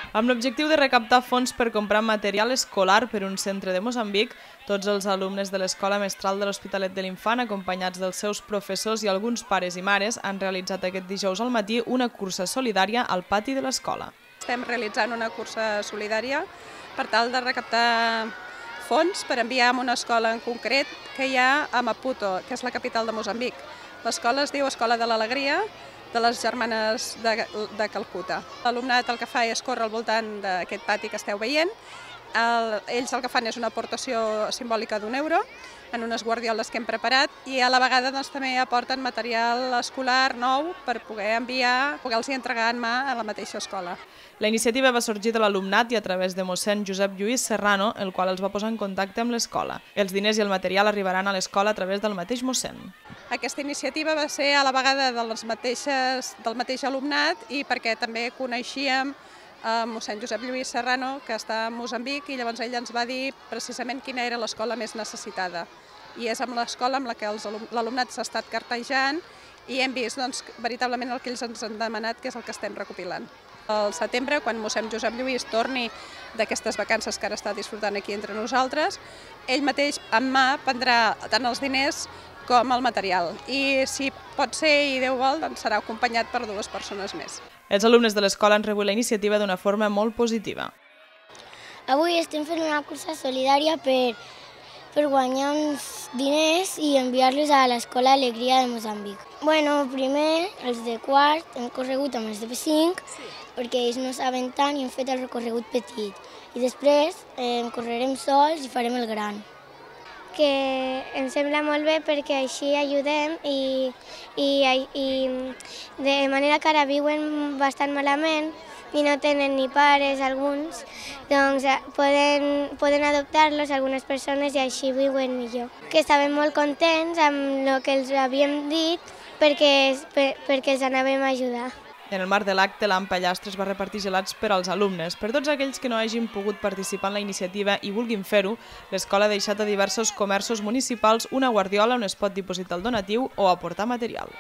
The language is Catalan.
Amb l'objectiu de recaptar fons per comprar material escolar per un centre de Moçambic, tots els alumnes de l'Escola Mestral de l'Hospitalet de l'Infant, acompanyats dels seus professors i alguns pares i mares, han realitzat aquest dijous al matí una cursa solidària al pati de l'escola. Estem realitzant una cursa solidària per tal de recaptar fons per enviar a una escola en concret que hi ha a Maputo, que és la capital de Moçambic. L'escola es diu Escola de l'Alegria, de les germanes de Calcuta. L'alumnat el que fa és córrer al voltant d'aquest pati que esteu veient. Ells el que fan és una aportació simbòlica d'€1 en unes guardioles que hem preparat i a la vegada també aporten material escolar nou per poder enviar, poder-los entregar en mà a la mateixa escola. La iniciativa va sorgir de l'alumnat i a través de mossèn Josep Lluís Serrano, el qual els va posar en contacte amb l'escola. Els diners i el material arribaran a l'escola a través del mateix mossèn. Aquesta iniciativa va ser a la vegada del mateix alumnat i perquè també coneixíem mossèn Josep Lluís Serrano, que està a Moçambic, i llavors ell ens va dir precisament quina era l'escola més necessitada. I és amb l'escola amb la que l'alumnat s'ha estat cartejant i hem vist veritablement el que ells ens han demanat, que és el que estem recopilant. Al setembre, quan mossèn Josep Lluís torni d'aquestes vacances que ara està disfrutant aquí entre nosaltres, ell mateix en mà prendrà tant els diners com el material. I si pot ser i Déu vol, doncs serà acompanyat per 2 persones més. Els alumnes de l'escola han rebut la iniciativa d'una forma molt positiva. Avui estem fent una cursa solidària per guanyar uns diners i enviar-los a l'Escola Alegria de Moçambic. Primer, els de quart hem corregut amb els de P5, perquè ells no saben tant i hem fet el recorregut petit. I després correrem sols i farem el gran. Que em sembla molt bé perquè així ajudem i de manera que ara viuen bastant malament i no tenen ni pares alguns, doncs poden adoptar-los algunes persones i així viuen millor. Que estaven molt contents amb el que els havíem dit perquè els anàvem a ajudar. En el marc de l'acte, l'AMPA-Llastres va repartir gelats per als alumnes. Per tots aquells que no hagin pogut participar en la iniciativa i vulguin fer-ho, l'escola ha deixat a diversos comerços municipals una guardiola on es pot dipositar el donatiu o aportar material.